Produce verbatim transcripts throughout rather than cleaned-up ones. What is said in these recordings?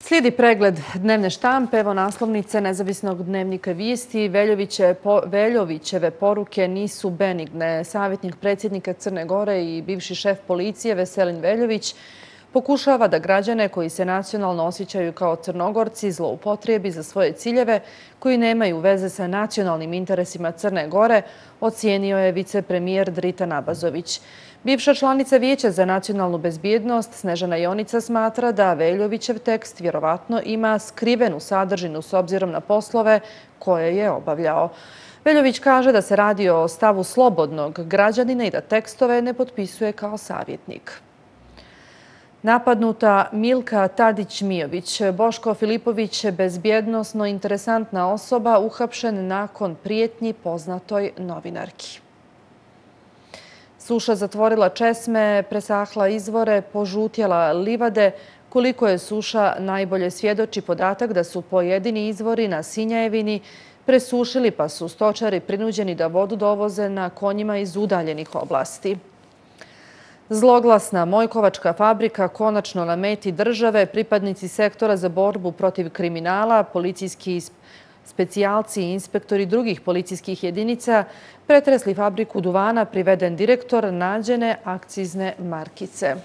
Slijedi pregled dnevne štampe. Evo naslovnice Nezavisnog dnevnika vijesti. Veljovićeve poruke nisu benigne. Savjetnik predsjednika Crne Gore i bivši šef policije Veselin Veljović pokušava da građane koji se nacionalno osjećaju kao Crnogorci zloupotrijebi za svoje ciljeve koji nemaju veze sa nacionalnim interesima Crne Gore, ocijenio je vicepremijer Dritan Abazović. Bivša članica Vijeća za nacionalnu bezbjednost Snežana Jonica smatra da Veljovićev tekst vjerovatno ima skrivenu sadržinu s obzirom na poslove koje je obavljao. Veljović kaže da se radi o stavu slobodnog građanina i da tekstove ne potpisuje kao savjetnik. Napadnuta Milka Tadić-Mijović. Boško Filipović, bezbjednosno interesantna osoba, uhapšen nakon prijetnji poznatoj novinarki. Suša zatvorila česme, presahla izvore, požutjela livade. Koliko je suša najbolje svjedoči podatak da su pojedini izvori na Sinjajevini presušili, pa su stočari prinuđeni da vodu dovoze na konjima iz udaljenih oblasti. Zloglasna Mojkovačka fabrika konačno na meti države. Pripadnici sektora za borbu protiv kriminala, policijski specijalci i inspektori drugih policijskih jedinica pretresli fabriku duvana, priveden direktor, nađene akcizne markice.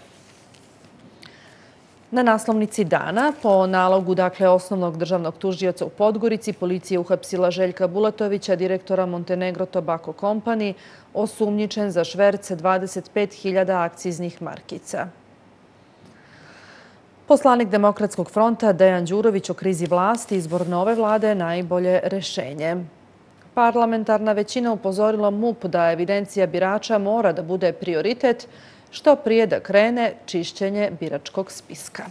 Na naslovnici dana, po nalogu dakle osnovnog državnog tužioca u Podgorici, policija uhapsila Željka Bulatovića, direktora Montenegro Tobacco Company, osumnjičen za šverc dvadeset pet hiljada akciznih markica. Poslanik Demokratskog fronta Dejan Đurović o krizi vlasti, izbor nove vlade je najbolje rješenje. Parlamentarna većina upozorila MUP da evidencija birača mora da bude prioritet, što prije da krene čišćenje biračkog spiska.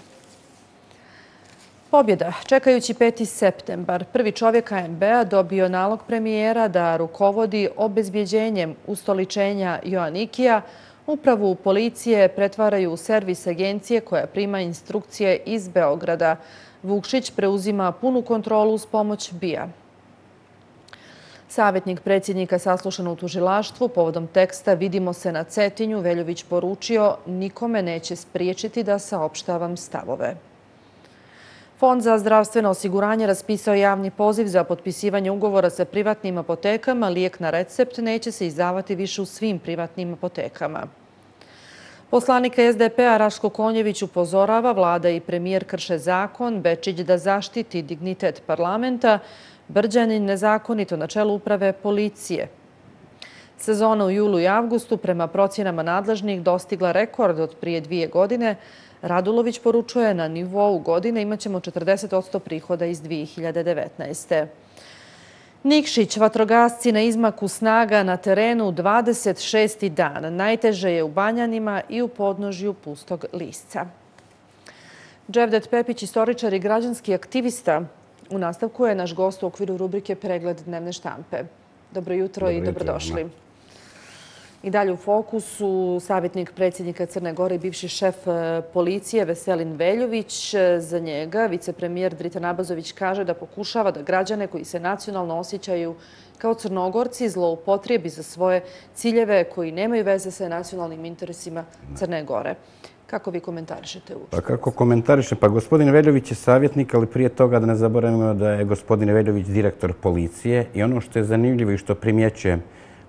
Pobjeda. Čekajući peti septembar, prvi čovjek K M B-a dobio nalog premijera da rukovodi obezbjeđenjem ustoličenja Joanikija. Upravu policije pretvaraju u servis agencije koja prima instrukcije iz Beograda. Vukšić preuzima punu kontrolu uz pomoć B I A. Savjetnik predsjednika saslušan u tužilaštvu povodom teksta "Vidimo se na Cetinju", Veljović poručio: "Nikome neće spriječiti da saopštavam stavove." Fond za zdravstveno osiguranje raspisao javni poziv za potpisivanje ugovora sa privatnim apotekama. Lijek na recept neće se izdavati više u svim privatnim apotekama. Poslanik S D P-a Raško Konjević upozorava vlada i premijer krše zakon, Bečić da zaštiti dignitet parlamenta, Brđanin nezakonito na čelu uprave policije. Sezona u julu i avgustu prema procjenama nadležnih dostigla rekord od prije dvije godine. Radulović poručuje: "Na nivou godine imat ćemo četrdeset posto prihoda iz dvije hiljade devetnaeste. Nikšić, vatrogasci na izmaku snaga na terenu dvadeset šesti dan. Najteže je u Banjanima i u podnožju Pustog Lisca. Dževdet Pepić, istoričar i građanski aktivista, u nastavku je naš gost u okviru rubrike Pregled dnevne štampe. Dobro jutro i dobrodošli. I dalje u fokusu savjetnik predsjednika Crne Gore i bivši šef policije Veselin Veljović. Za njega vicepremijer Dritan Abazović kaže da pokušava da građane koji se nacionalno osjećaju kao Crnogorci zloupotrijebi za svoje ciljeve koji nemaju veze sa nacionalnim interesima Crne Gore. Kako vi komentarišete uopšte? Pa kako komentarišem? Pa gospodin Veljović je savjetnik, ali prije toga da ne zaboravimo da je gospodin Veljović direktor policije i ono što je zanimljivo i što primjećujem,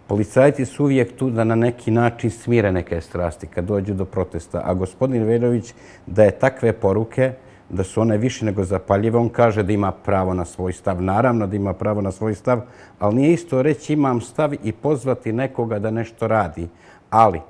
policajci su uvijek tu da na neki način smire neke strasti kad dođu do protesta, a gospodin Veljović daje takve poruke da su one više nego zapaljive. On kaže da ima pravo na svoj stav. Naravno da ima pravo na svoj stav, ali nije isto reći imam stav i pozvati nekoga da nešto radi. Ali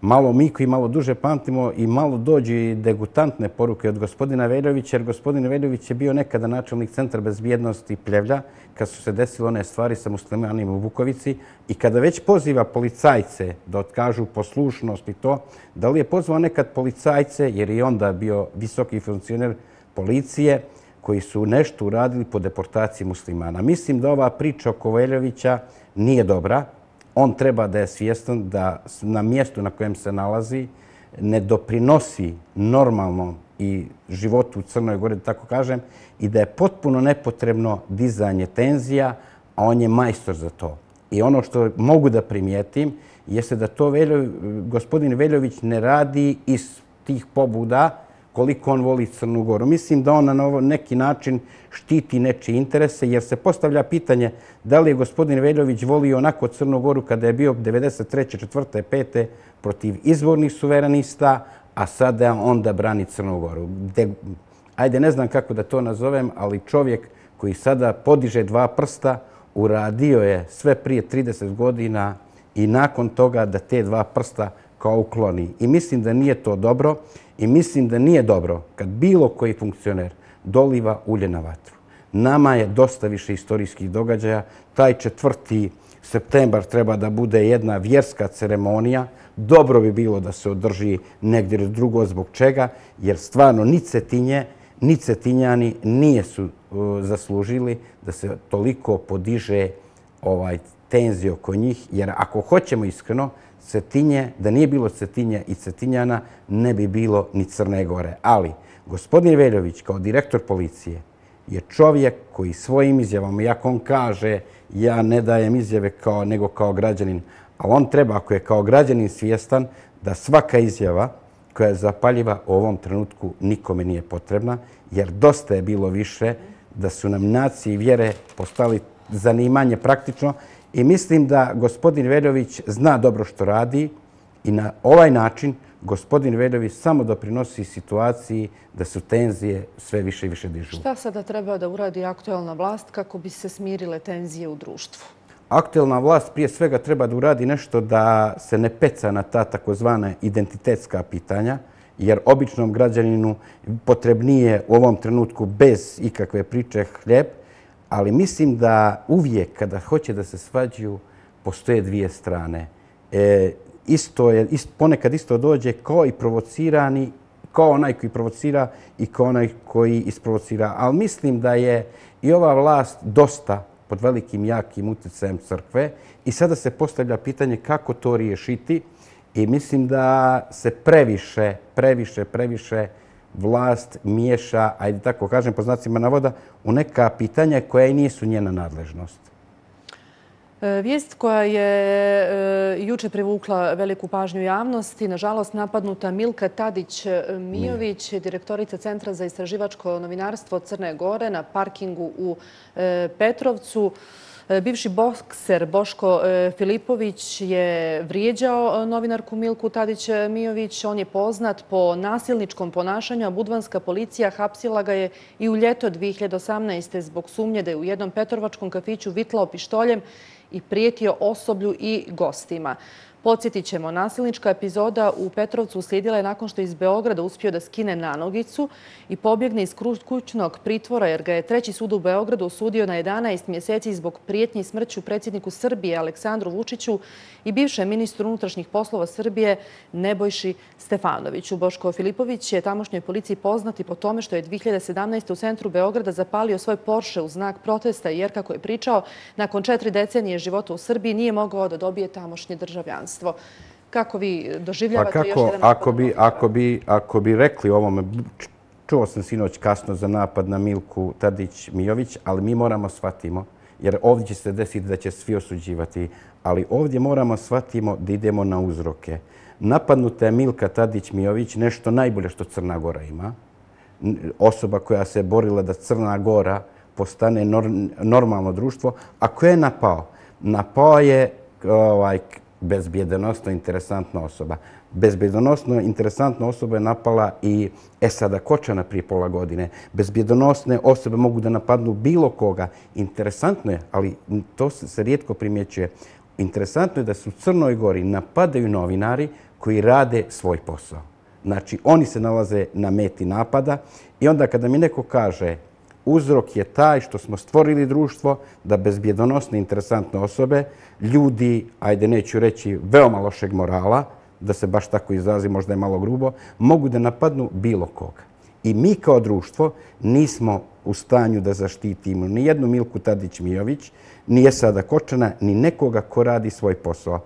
malo mi koji malo duže pamtimo i malo dođu i degutantne poruke od gospodina Veljovića, jer gospodin Veljović je bio nekada načelnik Centra bezbjednosti Pljevlja kad su se desile one stvari sa muslimanima u Vukovici i kada već poziva policajce da otkažu poslušnost i to, da li je pozvao nekad policajce, jer je onda bio visoki funkcioner policije, koji su nešto uradili po deportaciji muslimana. Mislim da ova priča oko Veljovića nije dobra. On treba da je svjestan da na mjestu na kojem se nalazi ne doprinosi normalnom i životu u Crnoj Gori, da tako kažem, i da je potpuno nepotrebno dizanje tenzija, a on je majstor za to. I ono što mogu da primijetim jeste da to gospodin Veljović ne radi iz tih pobuda koliko on voli Crnu Goru. Mislim da on na neki način štiti nečije interese, jer se postavlja pitanje da li je gospodin Veljović volio onako Crnu Goru kada je bio devedeset treće, četvrte, pete protiv izvornih suverenista, a sada onda brani Crnu Goru. Ajde, ne znam kako da to nazovem, ali čovjek koji sada podiže dva prsta uradio je sve prije trideset godina i nakon toga da te dva prsta kao ukloni. I mislim da nije to dobro i mislim da nije dobro kad bilo koji funkcioner doliva ulje na vatru. Nama je dosta više istorijskih događaja. Taj četvrti septembar treba da bude jedna vjerska ceremonija. Dobro bi bilo da se održi negdje drugo zbog čega, jer stvarno ni Cetinje, ni Cetinjani nije su zaslužili da se toliko podiže ovaj tenzije oko njih, jer ako hoćemo iskreno, Cetinje, da nije bilo Cetinje i Cetinjana, ne bi bilo ni Crne Gore. Ali gospodin Veljović kao direktor policije je čovjek koji svojim izjavama, iako on kaže ja ne dajem izjave kao, nego kao građanin, ali on treba, ako je kao građanin svjestan, da svaka izjava koja je zapaljiva u ovom trenutku nikome nije potrebna, jer dosta je bilo više da su nam nacije i vjere postali zanimanje praktično. I mislim da gospodin Veljović zna dobro što radi i na ovaj način gospodin Veljović samo doprinosi situaciji da su tenzije sve više i više dižu. Šta sada treba da uradi aktuelna vlast kako bi se smirile tenzije u društvu? Aktuelna vlast prije svega treba da uradi nešto da se ne peca na ta takozvana identitetska pitanja, jer običnom građaninu potrebnije u ovom trenutku bez ikakve priče hljeb, ali mislim da uvijek kada hoće da se svađaju, postoje dvije strane. E, isto je, ist, ponekad isto dođe kao i provocirani, kao onaj koji provocira i kao onaj koji isprovocira. Ali mislim da je i ova vlast dosta pod velikim, jakim utjecajem crkve i sada se postavlja pitanje kako to riješiti i mislim da se previše, previše, previše vlast miješa, ajde tako kažem po znacima navoda, u neka pitanja koja i nisu njena nadležnost. Vijest koja je juče privukla veliku pažnju javnosti, nažalost napadnuta Milka Tadić-Mijović, direktorica Centra za istraživačko novinarstvo Crne Gore na parkingu u Petrovcu. Bivši bokser Boško Filipović je vrijeđao novinarku Milku Tadić-Mijović. On je poznat po nasilničkom ponašanju, a budvanska policija hapsila ga je i u ljeto dvije hiljade osamnaeste. zbog sumnje da je u jednom petrovačkom kafiću vitlao pištoljem i prijetio osoblju i gostima. Podsjetit ćemo, nasilnička epizoda u Petrovcu uslijedila je nakon što je iz Beograda uspio da skine nanogicu i pobjegne iz kućnog pritvora, jer ga je treći sud u Beogradu osudio na jedanaest mjeseci zbog prijetnji smrću predsjedniku Srbije Aleksandru Vučiću i bivšem ministru unutrašnjih poslova Srbije Nebojši Stefanoviću. Boško Filipović je tamošnjoj policiji poznati po tome što je dvije hiljade sedamnaeste. u centru Beograda zapalio svoj Porsche u znak protesta, jer, kako je pričao, nakon četiri decenije života u Srbiji nije mogao da dobije tamošnje državljanstvo. Kako vi doživljavate pa kako, još jedan napad? Ako bi, ako, bi, ako bi rekli ovome, čuo sam sinoć kasno za napad na Milku Tadić-Mijović, ali mi moramo shvatimo, jer ovdje će se desiti da će svi osuđivati, ali ovdje moramo shvatimo da idemo na uzroke. Napadnuta je Milka Tadić-Mijović, nešto najbolje što Crna Gora ima. Osoba koja se borila da Crna Gora postane normalno društvo. A ko je napao? Napao je ovaj, bezbjedonosno interesantna osoba. Bezbjedonosno interesantna osoba je napala i Esada Kočana prije pola godine. Bezbjedonosne osobe mogu da napadnu bilo koga. Interesantno je, ali to se rijetko primjećuje. Interesantno je da su u Crnoj Gori napadaju novinari koji rade svoj posao. Znači, oni se nalaze na meti napada i onda kada mi neko kaže uzrok je taj što smo stvorili društvo da bezbjedonosne interesantne osobe, ljudi, ajde neću reći veoma lošeg morala, da se baš tako izrazi, možda je malo grubo, mogu da napadnu bilo koga. I mi kao društvo nismo u stanju da zaštitimo ni jednu Milku Tadić-Mijović, ni Esada Kočana, ni nekoga ko radi svoj posao.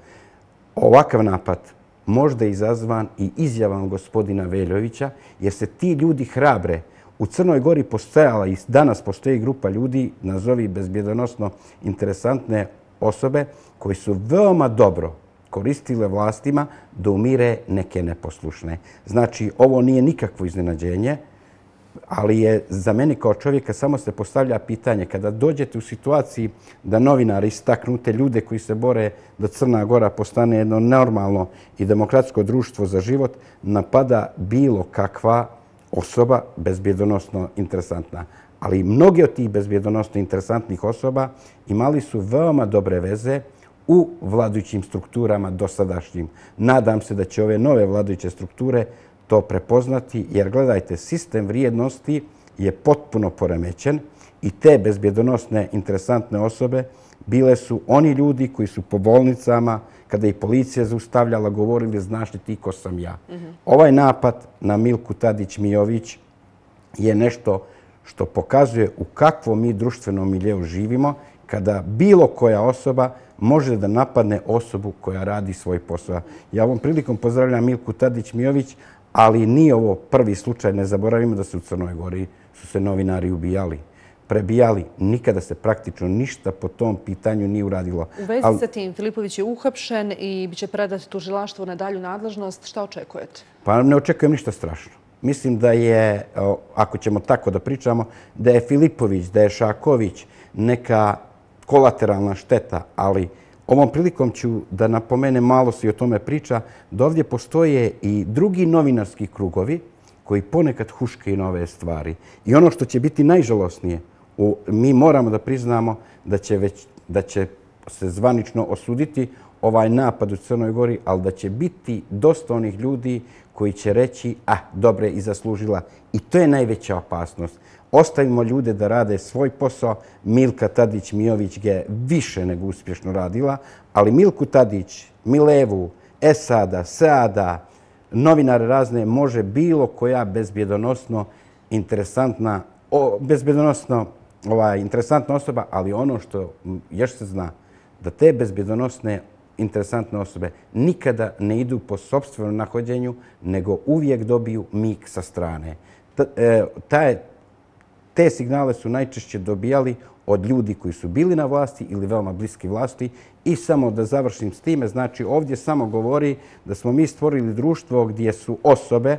Ovakav napad možda je izazvan i izjavom gospodina Veljovića, jer se ti ljudi hrabre. U Crnoj Gori postojala i danas postoji grupa ljudi, nazovi bezbjedonosno interesantne osobe, koji su veoma dobro koristile vlastima da umire neke neposlušne. Znači, ovo nije nikakvo iznenađenje, ali je za mene kao čovjeka samo se postavlja pitanje kada dođete u situaciji da novinari istaknu te ljude koji se bore da Crna Gora postane jedno normalno i demokratsko društvo za život, napada bilo kakva osoba bezbjedonosno interesantna. Ali mnogi od tih bezbjedonosno interesantnih osoba imali su veoma dobre veze u vladajućim strukturama dosadašnjim. Nadam se da će ove nove vladajuće strukture to prepoznati, jer gledajte, sistem vrijednosti je potpuno poremećen i te bezbjedonosne interesantne osobe bile su oni ljudi koji su po bolnicama, kada ih policija zaustavljala, govorili znaš li ti ko sam ja. Ovaj napad na Milku Tadić-Mijović je nešto što pokazuje u kakvom mi društvenom miljeu živimo, kada bilo koja osoba može da napadne osobu koja radi svoj posao. Ja ovom prilikom pozdravljam Milku Tadić-Mijović, ali nije ovo prvi slučaj. Ne zaboravimo da se u Crnoj Gori su se novinari ubijali, prebijali. Nikada se praktično ništa po tom pitanju nije uradilo. U vezi sa tim, Filipović je uhapšen i biće predat tužilaštvu na dalju nadležnost. Šta očekujete? Pa ne očekujem ništa strašno. Mislim da je, ako ćemo tako da pričamo, da je Filipović, da je Šaković neka kolateralna šteta, ali ovom prilikom ću da napomenem, malo se i o tome priča, da ovdje postoje i drugi novinarski krugovi koji ponekad huškaju na ove stvari. I ono što će biti najžalosnije, mi moramo da priznamo da će, već, da će se zvanično osuditi ovaj napad u Crnoj Gori, ali da će biti dosta onih ljudi koji će reći, ah, dobre, i zaslužila. I to je najveća opasnost. Ostavimo ljude da rade svoj posao. Milka Tadić-Mijović ga je više nego uspješno radila, ali Milku Tadić, Milevu, Esada, Seada, novinare razne, može bilo koja bezbjedonosno interesantna, o, bezbjedonosno ovaj, interesantna osoba, ali ono što još se zna, da te bezbjedonosne interesantne osobe nikada ne idu po sopstvenom nahođenju, nego uvijek dobiju mig sa strane. Taj, te signale su najčešće dobijali od ljudi koji su bili na vlasti ili veoma bliski vlasti. I samo da završim s time, znači ovdje samo govori da smo mi stvorili društvo gdje su osobe,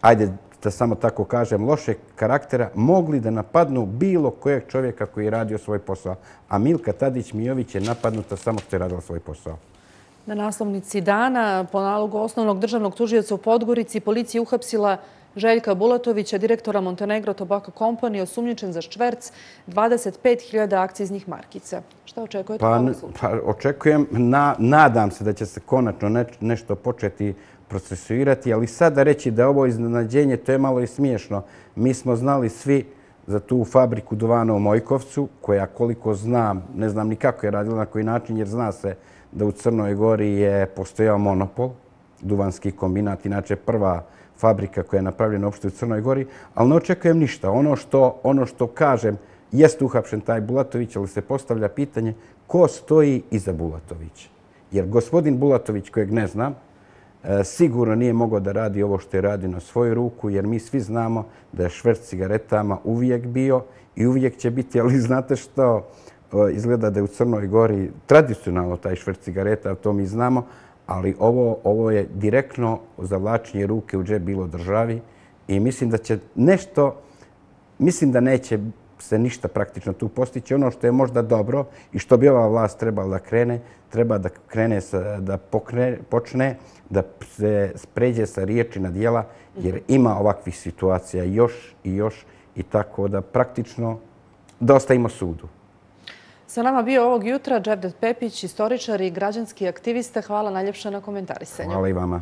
ajde da samo tako kažem, lošeg karaktera, mogli da napadnu bilo kojeg čovjeka koji je radio svoj posao. A Milka Tadić-Mijović je napadnuta samo što je radila svoj posao. Na naslovnici dana, po nalogu osnovnog državnog tužioca u Podgorici, policija je uhapsila Željka Bulatovića, direktora Montenegro Tobacco Company, osumnjičen za šverc dvadeset pet hiljada akciznih markica. Šta očekujete? Pa, pa očekujem, na, nadam se da će se konačno ne, nešto početi procesuirati, ali sada reći da ovo iznenađenje, to je malo i smiješno. Mi smo znali svi za tu fabriku duvana u Mojkovcu, koja koliko znam, ne znam ni kako je radila, na koji način, jer zna se da u Crnoj Gori je postojao monopol, duvanski kombinat, inače prva fabrika koja je napravljena uopšte u Crnoj Gori, ali ne očekujem ništa. Ono što, ono što kažem, jeste uhapšen taj Bulatović, ali se postavlja pitanje ko stoji iza Bulatovića. Jer gospodin Bulatović, kojeg ne znam, sigurno nije mogao da radi ovo što je radio na svoju ruku, jer mi svi znamo da je šverc cigaretama uvijek bio i uvijek će biti, ali znate što, izgleda da je u Crnoj Gori tradicionalno taj šverc cigareta, to mi znamo, ali ovo, ovo je direktno zavlačenje ruke u džep bilo državi i mislim da će nešto, mislim da neće se ništa praktično tu postići. Ono što je možda dobro i što bi ova vlast trebala da krene, treba da krene, sa, da pokre, počne da se pređe sa riječi na djela, jer ima ovakvih situacija još i još i tako da praktično da ostavimo sudu. Sa nama bio ovog jutra Dževdet Pepić, istoričar i građanski aktivista. Hvala najljepše na komentarisanju. Hvala i vama.